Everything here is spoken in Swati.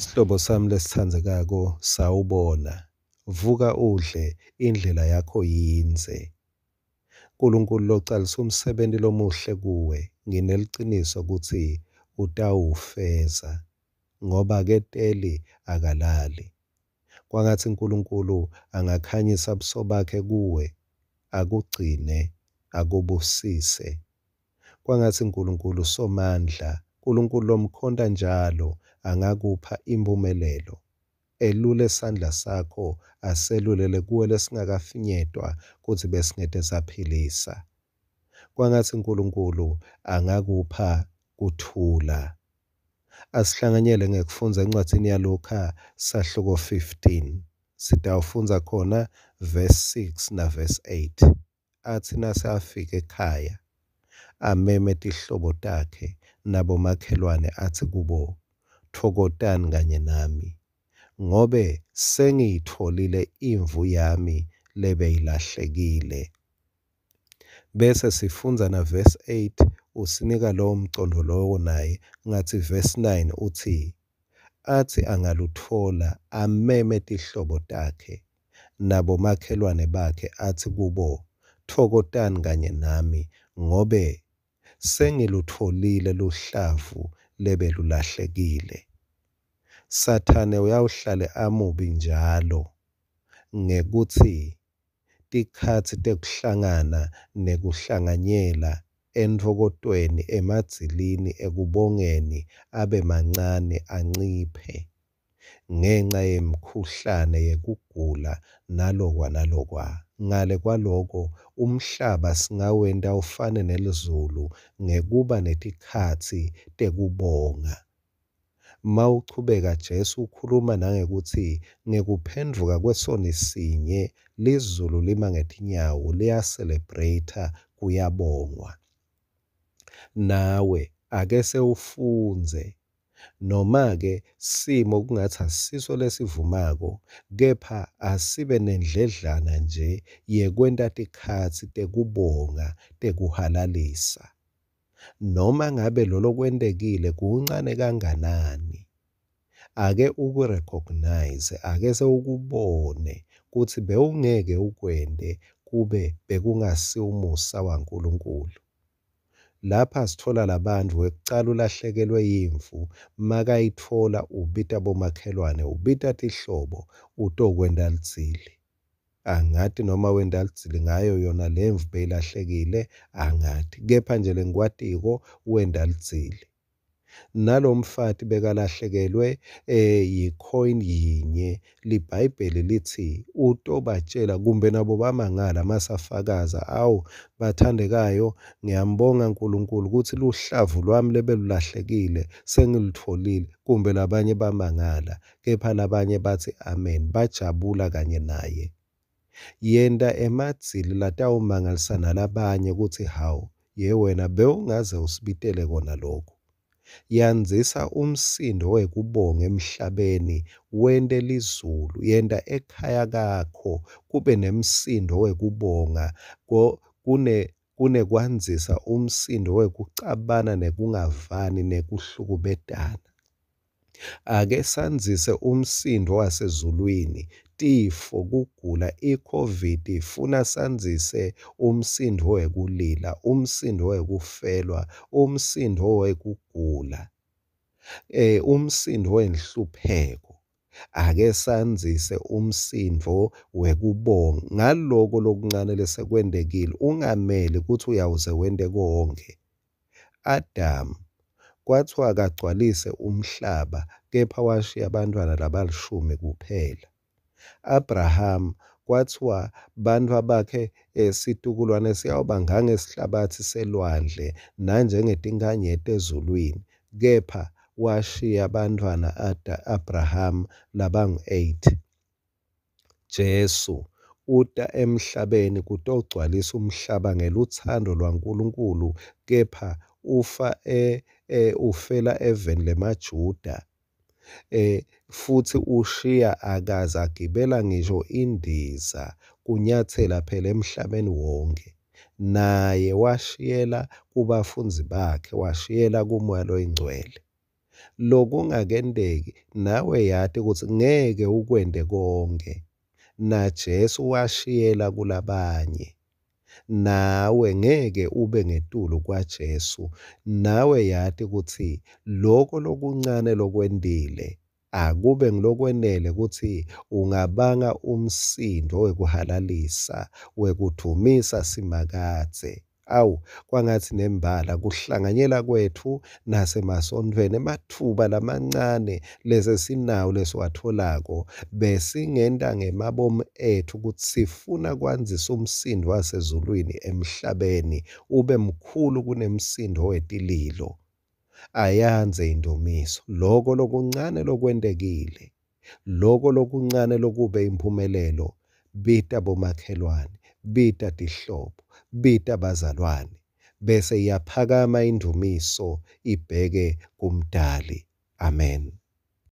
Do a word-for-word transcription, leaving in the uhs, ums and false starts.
Sihlobo sami lesitsandzekako, sawubona. Vuka udle, indlela yakho yindze. Nkulunkulu localisa umsebenti lomuhle kuwe, ngineliciniso kutsi utawufeza, ngoba aketeli akalali. Kwangatsi Nkulunkulu angakhanyisa buso bakhe kuwe, akugcine, akubusise. Kwangatsi Nkulunkulu Somandla, Nkulunkulu lomkhonta njalo, angakupha imphumelelo, elule sandla sakho, aselulele kuwe lesingakafinyetwa kutsi besingete saphilisa. Kwangatsi Nkulunkulu angakupha kuthula. Asihlanganyele ngekufundza encwadzini yaLukha sahluko fifteen. Sitawufundza khona verse six na verse eight. Atsi nase afika ekhaya, ameme tihlobo takhe nabomakhelwane atsi kubo, tfokotani kanye nami, ngobe sengiyitfolile imvu yami lebeyilahlekile. Bese sifundza na verse eight, usinika lowo mcondvo lowo naye, ngatsi verse nine utsi, atsi angalutfola ameme tihlobo takhe nabomakhelwane bakhe atsi kubo, tfokotani kanye nami, ngobe sengilutfolile luhlavu lebelulahlekile. Sathane uyawuhlale amubi njalo ngekutsi tikhatsi tekuhlangana nekuhlanganyela entfokotweni, emadzilini, ekubongeni abe mancane anciphe ngenca yemikhuhlane yekugula nalokwa nalokwa. Ngale kwaloko, umhlaba singawenta ufane nelizulu ngekuba netikhatsi tekubonga. Mawuchubeka Jesu ukhuluma nangekutsi ngekuphendvuka kwesoni sinye lizulu lima ngetinyawo, liya-celebrate, kuyabongwa. Nawe ake sewufundze, noma-ke simo kungatsi asiso lesivumako, kepha asibe nendledlana nje yekwenta tikhatsi tekubonga, tekuhalalisa. Noma ngabe lolo kwentekile kuncane kanganani, ake uku-recognize, ake sewukubone kutsi bewungeke ukwente kube bekungasiwo umusa waNkulunkulu. Lapha sitfola labantfu, wekucala ulahlekelwe yimvu, makayitfola ubita bomakhelwane, ubita tihlobo, utokwenta lidzili. Angati noma wenta lidzili ngayo yona lemvu beyilahlekile, angati. Kepha nje lengikwatiko wenta lidzili. Nalomfati bekalahlekelwe eh yi-coin yinye, liBhayibheli litsi utobatjela kumbe nabo bamangala masafakaza, awu bathandekayo, ngiyambonga Nkulunkulu kutsi luhlavu lwami lebelulahlekile sengilutfolile, kumbe labanye bamangala, kepha labanye batsi amen, bajabula kanye naye. Yenta emadzili latawumangalisa nalabanye kutsi hawu, ye wena bewungaze usibitele kona lokhu. Yandzisa umsindo wekubonga emhlabeni, wente lizulu, yenta ekhaya kakho kube nemsindo wekubonga, kune kunekwandzisa umsindo wekucabana nekungavani nekuhlukubetana. Ake sandzise umsindo wasezulwini, tifo, kugula, i-COVID ifuna sandzise umsindo wekulila, umsindo wekufelwa, umsindo wekugula, eh umsindo wenhlupheko. Ake sandzise umsindo wekubonga ngaloko lokuncane lesekwentekile, ungameli kutsi uyawuze wente konke. Adamu kwathiwa akagcwalise umhlaba, kepha washiya bantfwana labalishumi kuphela. Abraham kwathiwa bantfwa bakhe situkulwane siyawuba ngangesihlabatsi selwandle nanjengetinkhanyeti ezulwini, kepha washiya bantfwana Abraham labangu-eight. Jesu uta emhlabeni kutogcwalisa umhlaba ngelutsandvo lwaNkulunkulu, kepha ufa e, e, ufela eveni lemaJuda, eh futsi ushiya akaze agibela ngisho indiza kunyatsela phela emhlabeni wonke. Naye washiyela kubafundzi bakhe, washiyela kuMoya loyiNgcwele. Lokungakenteki nawe yati kutsi ngeke ukwente konkhe. NaJesu washiyela kulabanye. Nawe ngeke ube ngetulu kwaJesu. Nawe yati kutsi loko lokuncane lokwentile akube ngulokwenele kutsi ungabanga umsindvo wekuhalalisa, wekudvumisa Simakadze. Awu, kwangatsi nembala kuhlanganyela kwetfu nasemasontfweni, ematfuba lamancane lesesinawo lesiwatfolako, besingenta ngemabomu etfu kutsi sifuna kwandzisa umsindvo wasezulwini emhlabeni ube mkhulu kunemsindvo wetililo. Ayandze indumiso. Loko lokuncane lokwentekile, loko lokuncane lokube imphumelelo, bita bomakhelwane, bita tihlobo, bita bazalwane, bese iyaphakama indumiso ibheke kuMdali. Amen.